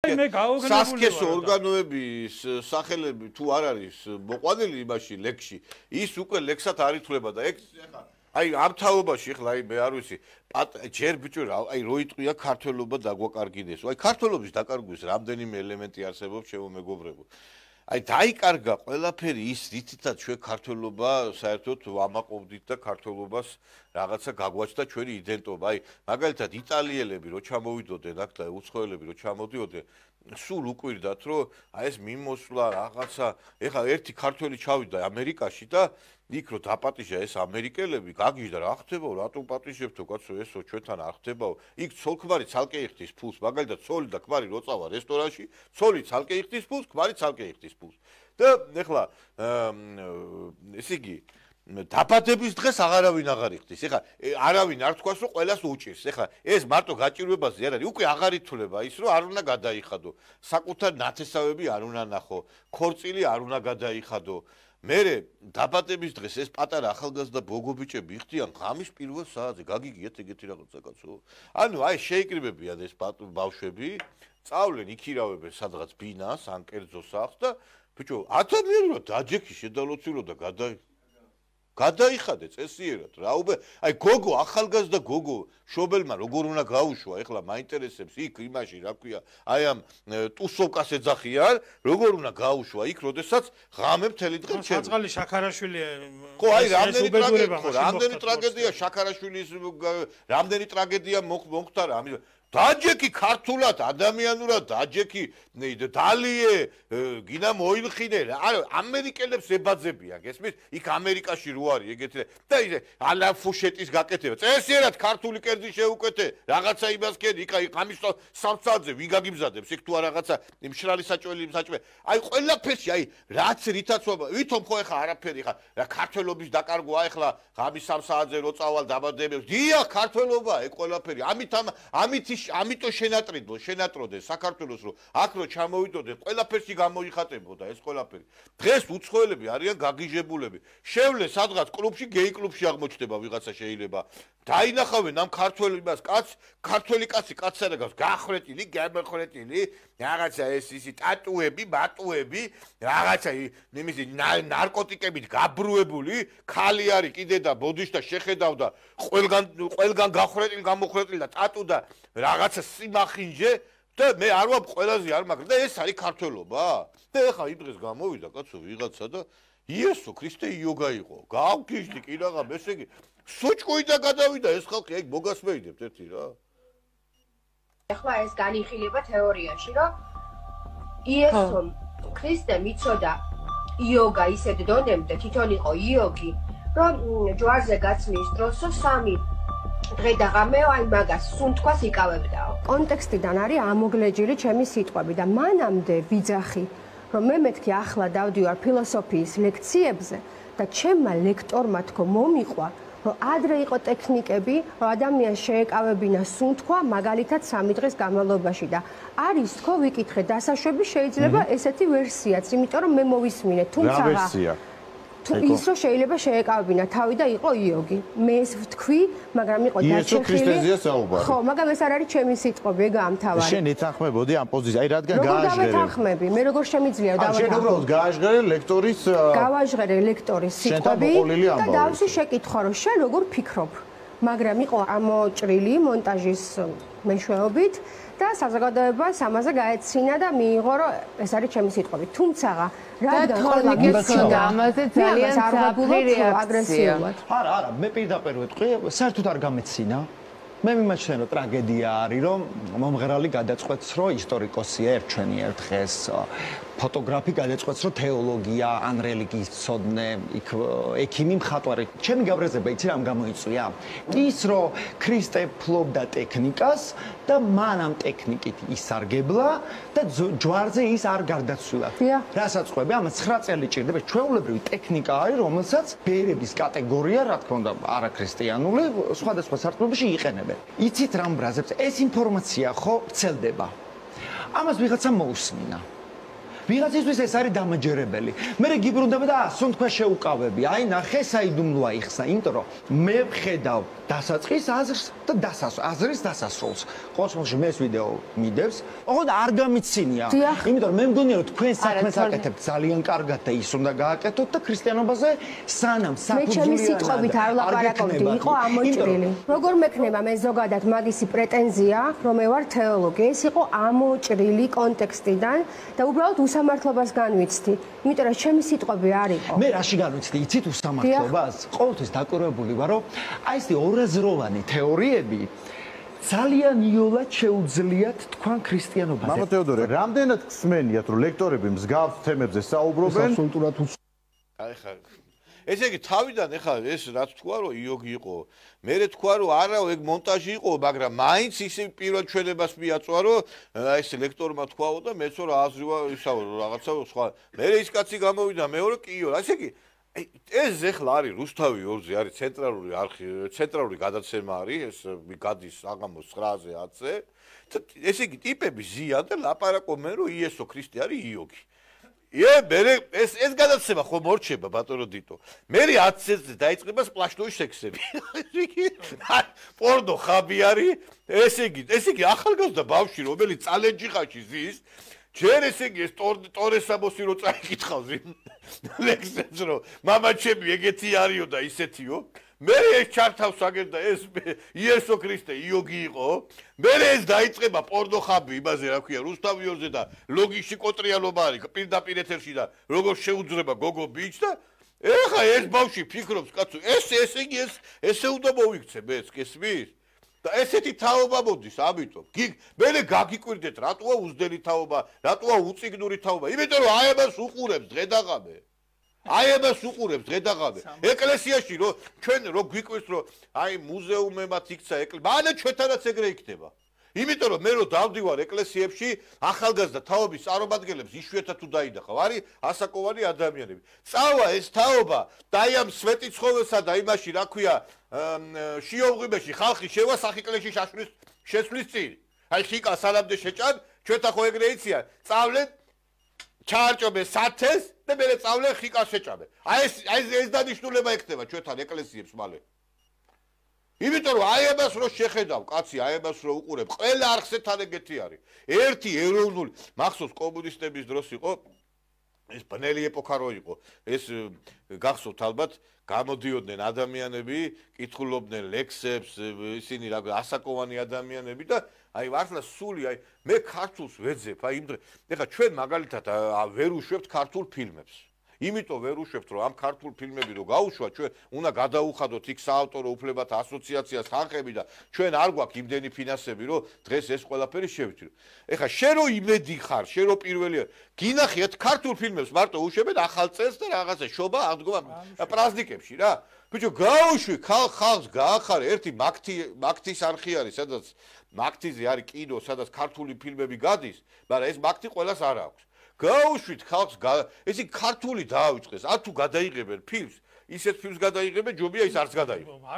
სასქესო ორგანოების სახელები თუ არ არის მოყვანილი იმაში ლექსში, ის უკვე ლექსად არ ითვლება და ეგ აი ამ თაობაში ხლა აი მე არ ვიცი ჯერ ბიჭო აი რო იტყვია ქართველობა დაგვაკარგინეს. აი ქართველობის დაკარგვის რამდენიმე ელემენტი არსებობს ჩემო მეგობრებო. აი დაიკარგა ყველაფერი ის რითაც ჩვენ ქართველობა საერთოდ ვამაყობდით და ქართველობას რაღაცა გაგვაჩნდა ჩვენი იდენტობა. აი მაგალითად იტალიელები რო ჩამოვიდოდნენ აქ და უცხოელები რო ჩამოდიოდნენ სულ უკვირდათ რომ აი ეს მიმოსვლა რაღაცა ეხლა ერთი ქართველი ჩავიდა ამერიკაში და იქ რო დაპატიჟა ეს ამერიკელები გაგიჟდა რა ხდებაო რატომ პატიჟებთო კაცო ესო ჩვენთან არ ხდებაო იქ ცოლ-ქმარი ცალკე იხდის ფულს მაგალითად ცოლი და ქმარი რო წავა რესტორანში ცოლი ცალკე იხდის ფულს ქმარი ცალკე იხდის ფულს და ეხლა ესე იგი დაბადების დღეს აღარავინ აღარ იხდის ეხლა არავინ არ თქვას რომ ყველას უჭირს ეხლა ეს მარტო გაჭირვებაზე არ არის უკვე აღარ ითვლება ის რომ არ უნდა გადაიხადო საკუთარ ნათესავები არ უნდა ნახო ქორწილი არ უნდა გადაიხადო მერე დაბადების დღეს ეს პატარა ახალგაზრდა ბოგობიჭები იხდიან ღამის პირველ საათზე გაგიგიათ ეგეთი რაღაცა კაცო ანუ აი შეიკრიბებიან ეს ბავშვები წავლენ იქირავებენ სადღაც ბინას ან კერძო სახლს და ბიჭო ადამიანურად დაჯექი შედალოცილო და გადაიხადე წესიერად რა უბე აი გოგო ახალგაზრდა გოგო შობელმა როგორ უნდა გაუშვა ეხლა მაინტერესებს იქ იმაში რა ქვია აი ამ ტუსოვკას ეძახიან როგორ უნდა გაუშვა იქ როდესაც ღამე მთელი დღე ჩემ საწყალი შაქარაშვილი ხო აი რამდენი ტრაგედია შაქარაშვილის რამდენი ტრაგედია მოხდა რა დაჯექი ქართულად ადამიანურად დაჯექი დალიე გინა მოილხინე არა ამერიკელებს ებაძებიან გესმის იქ ამერიკაში რო არის ეგეთი და ისე ალა ფუშეტის გაკეთება წესიერად ქართული კერძი შეუკეთე რაღაცა იმას კედი იქ აი ღამის სამსაათზე ვინ გაგიმზადებს იქ თუ არ რაღაცა მშრალი საჭველი აი ყველაფერში აი რაც რითაც ვითომ ხო ეხა არაფერი ხა რა ქართველობის დაკარგვა ეხლა ღამის სამსაათზე რო წავალ დაბადებებს დიახ ქართველობა ეგ ყველაფერი ამიტომ შენატროდე საქართველოს რომ აქ რო ჩამოვიდოდნენ ყველაფერში გამოიხატებოდა ეს ყველაფერი დღეს უცხოელები არიან გაგიჟებულები შევლენ სადღაც კლუბში გეი კლუბში აღმოჩნდება ვიღაცა შეიძლება დაინახავენ ამ ქართველი კაცი კაცსა და გავს გახრეტილი გამახრეტილი რაღაცა ეს ისი ტატუები ბატუები რაღაცა იმისი ნარკოტიკებით გაბრუებული ხალი არის კიდე და ბოდიშთა შეხედავდა ყველგან გახრეტილი გამოხრეტილი და ტატუ და რაღაცა სიმახინჯე და მე არ ვარ ყველაზე არ მაგრამ და ეს არის ქართველობა და ეხა იმ დღეს გამოვიდა კაცო ვიღაცა და იესო ქრისტე იოგა იყო გავგიჟდი კი რაღა ესე იგი სუჭკუი და გადავიდა ეს ხალხი ეგ მოგასმეიდებთ ერთი რა ეხლა ეს განიხილება თეორიაში რომ იესო ქრისტემ იცოდა იოგა ისეთ დონემდე თვითონ იყო იოგი რომ ჯვარზე გაცმის დროსო სამი დღე და ღამე აი მაგას სუნთქვას იკავებდაო. კონტექსტიდან არის ამოგლეჯილი ჩემი სიტყვები და მანამდე ვიძახი რომ მე მეთქი ახლა დავდივარ ფილოსოფიის ლექციებზე და ჩემმა ლექტორმა თქო მომიყვა რომ ადრე იყო ტექნიკები რომ ადამიანს შეეკავებინა სუნთქვა მაგალითად 3 დღის განმავლობაში და არის თქო ვიკითხე დასაშვები შეიძლება ესეთი ვერსიაც იმიტომ რომ მე მოვისმინე თუმცა რა ვერსია ის რომ შეიძლება შეეკავებინა თავი და იყო იოგი. მე ეს ვთქვი, მაგრამ იყო დაჩეხილი. ხო, მაგრამ ეს არ არის ჩემი სიტყვები, ეგ ამთავარი. შენ ეთანხმებოდი ამ პოზიციას, აი რადგან გააჟღერე. როგორ დავეთანხმები? მე როგორ შემიძლია დავეთანხმები? შენ უბრალოდ გააჟღერე ლექტორის გავაჟღერე ლექტორის სიტყვები და დავსი შეკითხვა, რომ შენ როგორ ფიქრობ? მაგრამ იყო ამოჭრილი მონტაჟის მეშვეობით და საზოგადოებას ამაზე გაეცინა და მიიღო რომ ეს არის ჩემი სიტყვები. თუმცა რადგან ხოლმე ამაზე ძალიან საფრთხე რეაქცია. არა, მე პირდაპირ ვეთქვი, საერთოდ არ გამეცინა. მე მიმაჩნია რომ ტრაგედია არის რომ მომღერალი გადაწყვეტს რომ ისტორიკოსია ჩვენი ერთ დღეს ფოტოგრაფი გადაწყვეტს რომ თეოლოგია ან რელიგიის ცოდნე იქ ექიმი მხატვარი ჩემი გაბრაზება იცი რამ გამოიწვია ის რომ ქრისტე ფლობდა ტექნიკას და მან ამ ტექნიკით ისარგებლა და ჯვარზე ის არ გარდაცვლილა რასაც ყვები ამას 9 წელი ჭირდება ჩვეულებრივი ტექნიკა არის რომელსაც ბერების კატეგორია რა თქმა უნდა არაქრისტიანული სხვადასხვა სარტყლებში იყენებენ იცით რამ ბრაზებს ეს ინფორმაცია ხო ვრცელდება ამას ვიღაცა მოусმინა ვიღაცისთვის ეს არის დამაჯერებელი. მე გიბრუნდება და ასონ თქვა შეუკავები. აი ნახე საიდუმლოა იხსნა, იმიტომ რომ მე ვხედავ დასაწყის აზრს და აზრის დასასრულს. ყოველ შემთხვევაში მე ეს ვიდეო მიდევს, ოღონდ არ გამიცინია. იმიტომ რომ მე მგონია რომ თქვენ საქმეს აკეთებთ ძალიან კარგად და ის უნდა გააკეთოთ და ქრისტიანობაზე სანამ საფუძვლიანად. მე ჩემი სიტყვებით არ ვლაპარაკობდი, იყო ამოჭრილი. როგორ მექნება მე ზოგადად მაგისი პრეტენზია, რომ მე ვარ თეოლოგი, ეს იყო ამოჭრილი კონტექსტიდან და უბრალოდ უსამართლობას განვიცდი. იმიტომ რომ ჩემი სიტყვები არ იყო. მე რაში განვიცდი, იცით უსამართლობას? ყოველთვის დაკვირვებული ვარ, რომ აი ეს ორაზროვანი თეორიები ძალიან იოლად შეუძლიათ თქვენ ქრისტიანობაზე. მამა თეოდორე, რამდენად გსმენიათ, რომ ლექტორები მსგავს თემებზე საუბრობენ? აბსოლუტურად აი ხა ესე იგი თავიდან ეხლა ეს რაც თქვა რომ იოგი იყო მერე თქვა რომ არა ეგ მონტაჟი იყო მაგრამ მაინც ისე პირველ ჩვენებას მიაწვა რომ ეს ლექტორმა თქვაო და მეცო რა აზრია ისაო რაღაცა სხვა მერე ის კაცი გამოვიდა მეორე კიო ესე იგი ეს ეხლა არის რუსთავი 2-ზე არის ცენტრალური არქივი ცენტრალური გადაცემა არის ეს გადის საღამოს 9-ზე 10-ზე ესე იგი ტიპები ზიან და ლაპარაკობენ რომ იესო ქრისტე არის იოგი მერე ეს გადაცემა ხომ მორჩება ბატონო დიტო მერე 10 წელს დაიწყება სპლაშნოი სექსები პორნო ხაბი არის ესე იგი ახალგაზრდა ბავშვი რომელიც წალენჯი ხაში ზის ჯერ ესე იგი ეს ტორესამოსი რო წაიკითხავს ლექსებს რომ მამა ჩემი ეგეთი არისო და ისეთიო მერე ეს ჩართავს აგერდა ეს იესო ქრისტე იოგი იყო მერე ეს დაიწყება პორნო ხაბი იმაზე რა ქვია რუსთავი 2-ზე და ლოგიში კოტრიალობა არის პირდაპირ ეთერში და როგორ შეუძრება გოგო ბიჭ და ეხა ეს ბავშვი ფიქრობს კაცო ესე იგი ესე უნდა მოვიქცე მეც გესმის და ესეთი თაობა მოდის ამიტომ მერე გაგიკვირდეთ რატოა უზდელი თაობა რატოა უწიგნური თაობა იმიტომ რომ აი ამას უყურებს დღედაღამე აი ამას უყურებს დღედაღამე ეკლესიაში რომ ჩვენ რო გვიკვირს რომ აი მუზეუმებად იქცა ეკლესია მანე ჩვენთანაც ეგრე იქნება იმიტომ რომ მე რო დავდივარ ეკლესიებში ახალგაზრდა თაობის წარმომადგენლებს იშვიათად თუ დაინახავ არის ასაკოვანი ადამიანები წავა ეს თაობა და აი ამ სვეტიცხოველსა და იმაში რა ქვია შიოღვიმეში ხალხი შევა სახიკლეში შესვლის წინ აი ხიკა სანამდე შეჭან ჩვენთან ხო ეგრე იციან წავლენ ჩაარჭობენ სათეს და მე წავლენ ხიკას შეჭამენ აი ეს დანიშნულება ექნება ჩვენთან ეკლესიებს მალე იმიტომ რომ აი ამას რო შეხედავ კაცი აი ამას რო უყურებ ყველა არხზე თან ეგეთი არის ერთი ეროვნული მახსოვს კომუნისტების დროს იყო ეს ბნელი ეპოქა რო იყო ეს გახსოვთ ალბათ გამოდიოდნენ ადამიანები კითხულობდნენ ლექსებს ისინი რა ასაკოვანი ადამიანები და აი ვართლა სული აი მე ქართულს ვეძებ აი იმ დღე ეხლა ჩვენ მაგალითად ვერ უშვებთ ქართულ ფილმებს იმიტომ ვერ უშვებთ რომ ამ ქართულ ფილმები რო გაუშვათ ჩვენ უნდა გადაუხადოთ იქ საავტორო უფლებათა ასოციაციას ხალხები და ჩვენ არ გვაქვს იმდენი ფინანსები რომ დღეს ეს ყველაფერი შევთვლიო ეხლა შენ რო იმედი ხარ შენ რო პირველია გინახიათ ქართულ ფილმებს მარტო უშვებენ ახალ წელს და რაღაცა შობა აღდგომა პრაზნიკებში რა ბიჭო გაუშვი ხალხს გაახარე ერთი მაგთის არხი არის სადაც მაგთიზე არის კინო სადაც ქართული ფილმები გადის მაგრამ ეს მაგთი ყველას არ აქვს გაუშვით ხალხს ესე ქართული დაავიწყეს თუ გადაიღებენ ფილმს ისეთ ფილმს გადაიღებენ ჯობია ის არც გადაიღო არ